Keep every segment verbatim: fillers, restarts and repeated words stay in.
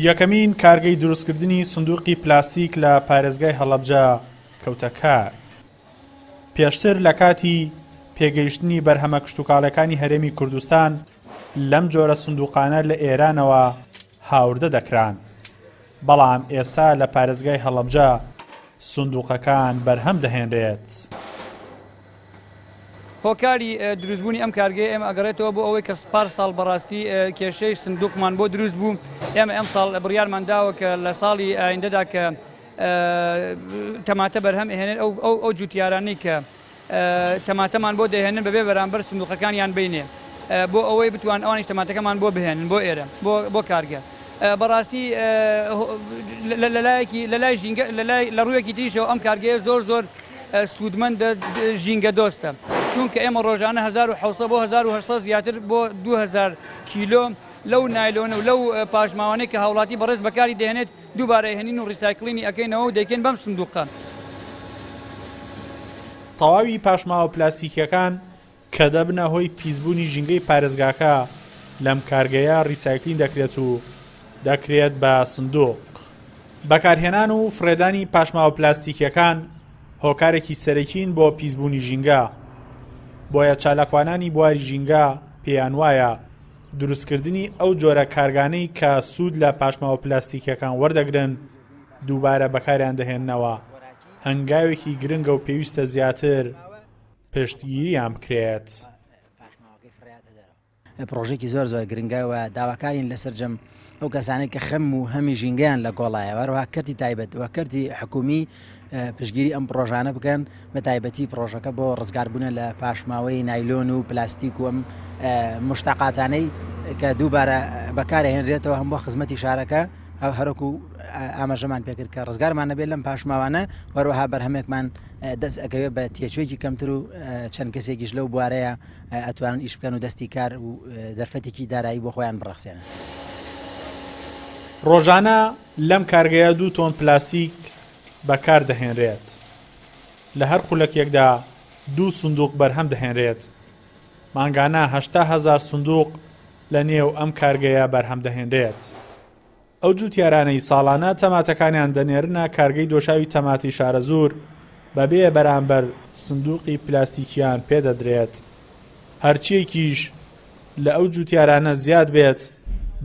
یەکەمین کارگەی دروستکردنی سندوقی پلاستیک لە پارێزگای هەڵەبجە کەوتە کار. پێشتر لە کاتی پێگەیشتنی بەرهەمە کشتوکاڵەکانی هەرێمی کوردستان لەم جۆرە سندوقانە لە ئێرانەوە هاوردە دەکران، بەڵام ئێستا لە پارێزگای هەڵەبجە سندوقەکان بەرهەم دەهێنرێت. هۆکاری دروستبوونی ئەم کارگەیە ئێمە ئەگەڕێتەوە بۆ ئەوەی کە پار ساڵ بەڕاستی کێشەی سندوقمان بۆ دروست بوو. ئێمە ئەم ساڵ بڕیارمان داوە کە لە ساڵی ئایندەدا کە تەماتە بەرهەم ئەهێنێت ئەو ئەو جوتیارانەی کە تەماتەمان بۆ دەهێنن بەبێ بەرامبەر سندوقەکانیان بینێ بۆ ئەوەی بتوان ئەوانیش تەماتەکەمان بۆ بهێنن بۆ ئێرە بۆ کارگە. بەڕاستی لەلایەکی لەلای ژینگە لە ڕوویەکی تریشەوە ئەم کارگەیە زۆر زۆر سوودمەندە ژینگە دۆستە، چونکە ئێمە ڕۆژانە هەزار و حەوت سەد بۆ هەزار و هەشت سەد زیاتر بۆ دوو هەزار کیلۆ لەو نایلۆنە و لەو پاشماوانەی کە هاوڵاتی بەڕێز بەکاری دەهێنێت دووبارە هێنین و ڕیسایکلینی ئەکەینەوە و دەیکەین بەم سندوقە. تەواوی پاشماوە پلاستیکیەکان کە دەبنە هۆی پیسبوونی ژینگەی پارێزگاکە لەم کارگەیە ڕیسایکلین دەکرێت و دەکرێت بە سندوق. بەکارهێنان و فڕێدانی پاشماوە پلاستیکیەکان هۆکارێکی سەرەکین بۆ پیسبوونی ژینگە، بۆیە چالاکوانانی بواری ژینگە پێیان وایە دروستکردنی ئەو جۆرە کارگانەی کە سوود لە پاشماوە پلاستیکیەکان وەردەگرن دووبارە بەکاریان دەهێننەوە هەنگاوێکی گرنگە و پێویستە زیاتر پشتگیریان بکرێت. پرۆژێکی زۆر زۆر گرنگە و داواکارین لەسەر جەم ئەو کەسانەی کە خەم و هەمی ژینگەیان لە گۆڵایە، هەروەها کەرتی تایبەت و کەرتی حکومی پشتگیری ئەم پرۆژانە بکەن، بە تایبەتی پرۆژەکە بۆ ڕزگاربوونە لە پاشماوەی نایلۆن و پلاستیک و ئەم مشتەقاتانەی کە دووبارە بەکارهێنرێتەوە هەم بۆ خزمەتی شارەکە، هەرۆکو ئاماژەمان پێکرد کە ڕزگارمان نەبێت لەم پاشماوانە، هەروەها بەرهەمێکمان دەست ئەکەوێت بە تێچوویەکی کەمتر و چەند کەسێکیش لەو بوارەیە ئەتوانن ئیش بکەن و دەستی کار و دەرفەتێکی دارایی بۆ خۆیان بڕەخسێنن. ڕۆژانە لەم کارگەیە دوو تۆن پلاستیک بەکار دەهێنرێت. لە هەر خولەکێکدا دوو سندوق بەرهەم دەهێنرێت. مانگانە هەشتا هەزار سندوق لە نێو ئەم کارگەیە بەرهەم دەهێنرێت. ئەو جوتیارانەی ساڵانە تەماتەکانیان دەنێرنە کارگەی دۆشاوی تەماتی شارەزوور بەبێ بەرامبەر سندوقی پلاستیکیان پێدەدرێت. هەرچیەکیش لە ئەو جوتیارانە زیاد بێت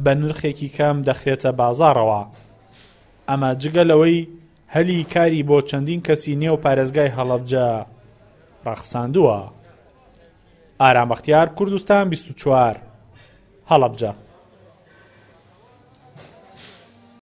بە نرخێکی کەم دەخرێتە بازاڕەوە. ئەمە جگە لەوەی هەلی کاری بۆ چەندین کەسی نێو پارێزگای هەڵەبجە ڕەخساندووە. ئارام بەختیار، کوردستان بیست و چوار، هەڵەبجە.